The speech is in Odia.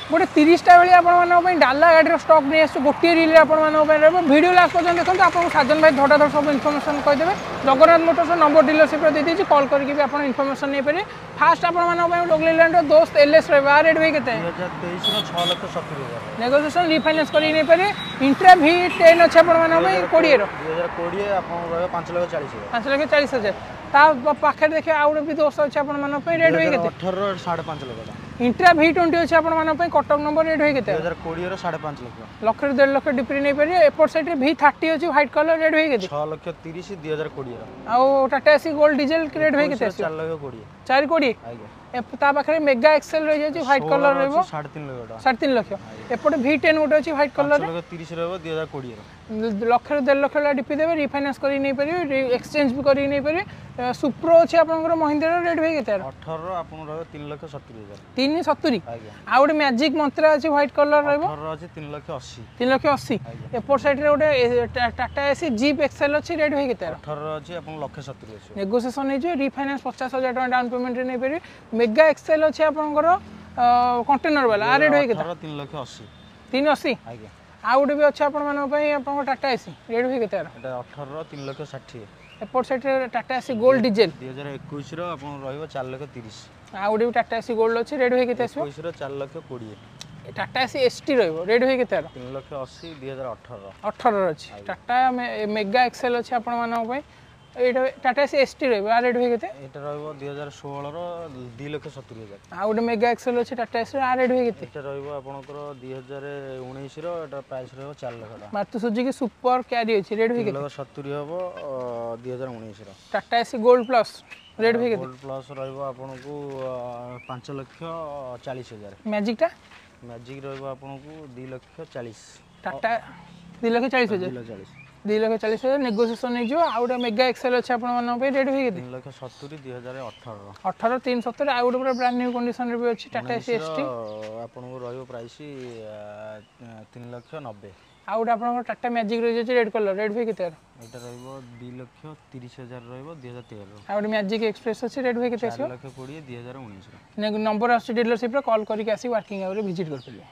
ଗୋଟେ 30ଟା ଭଳି ଆପଣମାନଙ୍କ ପାଇଁ ଡାଲା ଗାଡ଼ିର ଷ୍ଟକ୍ ନେଇ ଆସିଛୁ। ଗୋଟିଏ ରିଲ୍ରେ ଆପଣମାନଙ୍କ ପାଇଁ ରହିବ। ଭିଡ଼ିଓ ଲାଷ୍ଟ ପର୍ଯ୍ୟନ୍ତ ଦେଖନ୍ତୁ, ଆପଣଙ୍କୁ ସାଜନ ଭାଇ ଧଡ଼ାଧଡ଼ ସବୁ ଇନଫର୍ମେସନ୍ କହିଦେବେ। ଜଗନ୍ନାଥ ମୋଟର୍ସ ନମ୍ବର ଡିଲରସିପ୍ରେ ଦେଇଦେଇଛି, କଲ୍ କରିକି ବି ଆପଣ ଇନଫର୍ମେସନ୍ ନେଇପାରିବେ। ଫାଷ୍ଟ ଆପଣମାନଙ୍କ ପାଇଁ ଲେଲ୍ୟାଣ୍ଡର ଦୋସ୍ତ ଏଲ୍ଏସ୍ ରହିବ। ଆ ରେଟ୍ ଭାଇ କେତେ? 2023ର 6,70,000। ନେଗୋସିଏସନ୍, ରିଫାଇନାନ୍ସ କରିକି ନେଇପାରିବେ। ଇଣ୍ଟ୍ରା ଭି 10 ଅଛି ଆପଣମାନଙ୍କ ପାଇଁ 20ର। 2020 ଆପଣଙ୍କୁ ରହିବ 5,40,000। 5,40,000। ତା ପାଖରେ ଦେଖିବେ, ଆଉ ଗୋଟେ ବି ଦୋସ୍ତ ଅଛି ଆପଣମାନଙ୍କ ପାଇଁ। ରେଟ୍ ଭାଇ କେତେ? 18ର 5.5 ଲକ୍ଷ ଟଙ୍କା। ଇଣ୍ଟ୍ରା ଭି 20 ଅଛି ଆପଣମାନଙ୍କ ପାଇଁ, କଟକ ନମ୍ବର। ରେଟ୍ ଭାଇ କେତେ? 2020ର 5.5 ଲକ୍ଷ। ଲକ୍ଷରୁ 1.5 ଲକ୍ଷ ଡିପିରେ ନେଇପାରିବେ। ଏପଟ ସାଇଡ଼୍ରେ ଭି 30 ଅଛି, ହ୍ୱାଇଟ୍ କଲର୍। ରେଟ୍ ଭାଇ କେତେ? 6 ଲକ୍ଷ 30, 2020ର। ଆଉ Tata AC gold diesel rate ଭାଇ କେତେ ଆସିବ? 4 ଲକ୍ଷ 20। 4.20? ଆଜ୍ଞା। ତା ପାଖରେ ମେଗା ଏକ୍ସେଲ ରହିଯାଉଛି, ହ୍ୱାଇଟ୍ କଲର୍ ରହିବ। 3.5 ଲକ୍ଷ ଟଙ୍କା। 3.5 ଲକ୍ଷ। ଏପଟେ ଭି 10 ଗୋଟେ ଅଛି ହ୍ୱାଇଟ୍ କଲର୍। 5 ଲକ୍ଷ 30 ରହିବ 2020ର। ଲକ୍ଷରୁ 1.5 ଲକ୍ଷ ଭଳିଆ ଡିପି ଦେବେ, ରିଫାଇନାନ୍ସ କରିକି ନେଇପାରିବେ, ଏକ୍ସଚେଞ୍ଜ ବି କରିକି ନେଇପାରିବେ। ସୁପ୍ରୋ ଅଛି ଆପଣଙ୍କର ମହିନ୍ଦ୍ରାର। ରେଟ୍ ଭାଇ କେତେ? 18ର ଆପଣଙ୍କୁ ରହିବ 3,70,000। 3.70? ଆଜ୍ଞା। ଆଉ ଗୋଟେ ମ୍ୟାଜିକ୍ ମନ୍ତ୍ରା ଅଛି, ହ୍ୱାଇଟ୍ କଲର୍ ରହିବ। 18ର ଅଛି 3 ଲକ୍ଷ 80। 3 ଲକ୍ଷ 80। ଏପଟ ସାଇଡ଼୍ରେ ଗୋଟେ ଟାଟା ଏସି ଜିପ୍ ଏକ୍ସେଲ୍ ଅଛି। ରେଟ୍ ଭାଇ କେତେ? 18ର ଅଛି ଆପଣଙ୍କୁ ଲକ୍ଷେ 70 ଆସିବ। ନେଗୋସିଏସନ୍ ହେଇଯିବ। ରିଫାଇନାନ୍ସ 50,000 ଟଙ୍କା ଡାଉନ୍ ପେମେଣ୍ଟରେ ନେଇପାରିବେ। ମେଗା ଏକ୍ସେଲ୍ ଅଛି ଆପଣଙ୍କର କଣ୍ଟେନର ବାଲା। ଆ ରେଟ୍ ଭାଇ କେତେ? 18 3 ଲକ୍ଷ 80। 3.80? ଆଜ୍ଞା। ଆଉ ଗୋଟେ ବି ଅଛି ଆପଣମାନଙ୍କ ପାଇଁ, ଆପଣଙ୍କ ଟାଟା ଏସି। ରେଟ୍ ଭାଇ କେତେ ଆର? ଏଇଟା 18ର 3 ଲକ୍ଷ 60। ଏପଟ ସାଇଡ଼୍ରେ ଟାଟା ଏସି ଗୋଲ୍ଡ ଡିଜେଲ। 2021ର ଆପଣଙ୍କୁ ରହିବ 4 ଲକ୍ଷ 30। ଆଉ ଗୋଟେ ବି ଟାଟା ଏସି ଗୋଲ୍ଡ ଅଛି। ରେଟ୍ ଭାଇ କେତେ ଆସିବ? 21ର 4 ଲକ୍ଷ 20। ଟାଟା ଏସି ଏସ୍ ଟି ରହିବ। ରେଟ୍ ଭାଇ କେତେ ଆର? 3 ଲକ୍ଷ 80, 2018ର। 18ର ଅଛି। ଟାଟା ମେଗା ଏକ୍ସେଲ୍ ଅଛି ଆପଣମାନଙ୍କ ପାଇଁ। ଏଇଟା ଟାଟା ଏସି ଏସ୍ ଟି ରହିବ। ଆ ରେଟ୍ ଭାଇ କେତେ? ଏଇଟା ରହିବ 2016ର 2,70,000। ଆଉ ଗୋଟେ ମେଗା ଏକ୍ସେଲ୍ ଅଛି ଟାଟା ଏସିର। ଆ ରେଟ୍ ଭାଇ କେତେ? ଏଇଟା ରହିବ ଆପଣଙ୍କର 2019ର, ଏଇଟା ପ୍ରାଇସ୍ ରହିବ 4 ଲକ୍ଷ ଟଙ୍କା। ମାରୁତି ସୁଜୁକି ସୁପର କ୍ୟାରି ଅଛି। ରେଟ୍ ଭାଇ ତିନି କେତେ? ଲକ୍ଷ 70 ହେବ 2019ର। Tata AC gold plus rate ଭାଇ କେତେ? ଗୋଲ୍ଡ ପ୍ଲସ୍ ରହିବ ଆପଣଙ୍କୁ 5,40,000। ମ୍ୟାଜିକଟା? ମ୍ୟାଜିକ୍ ରହିବ ଆପଣଙ୍କୁ 2 ଲକ୍ଷ 40। ଟାଟା 2,40,000? 2 ଲକ୍ଷ 40। 2,40,000, ନେଗୋସିଏସନ୍ ହେଇଯିବ। ଆଉ ଗୋଟେ ମେଗା ଏକ୍ସେଲ୍ ଅଛି ଆପଣମାନଙ୍କ ପାଇଁ। ରେଟ୍ ଭାଇ କେତେ? 3 ଲକ୍ଷ 70, 2018ର। 18 3.70। ଆଉ ଗୋଟେ ପୁରା ବ୍ରାଣ୍ଡ ନ୍ୟୁ କଣ୍ଡିସନରେ ବି ଅଛି ଟାଟା ଏସି ଏସ୍ ଟି। ଆପଣଙ୍କୁ ରହିବ ପ୍ରାଇସ୍ 3 ଲକ୍ଷ 90। ଆଉ ଗୋଟେ ଆପଣଙ୍କର ଟାଟା ମ୍ୟାଜିକ୍ ରହିଯାଉଛି ରେଡ୍ କଲର୍। ରେଟ୍ ଭାଇ କେତେ ଆର? ଏଇଟା ରହିବ 2,30,000 ରହିବ 2013ର। ଆଉ ଗୋଟେ ମ୍ୟାଜିକ୍ ଏକ୍ସପ୍ରେସ୍ ଅଛି। ରେଟ୍ ଭାଇ କେତେ ଆସିବ? 4 ଲକ୍ଷ 20, 2019ର। ନମ୍ବର ଆସୁଛି ଡିଲରସିପ୍ରେ, କଲ୍ କରିକି ଆସି ୱାର୍କିଂ ଆୱାରରେ ଭିଜିଟ୍ କରିପାରିବେ।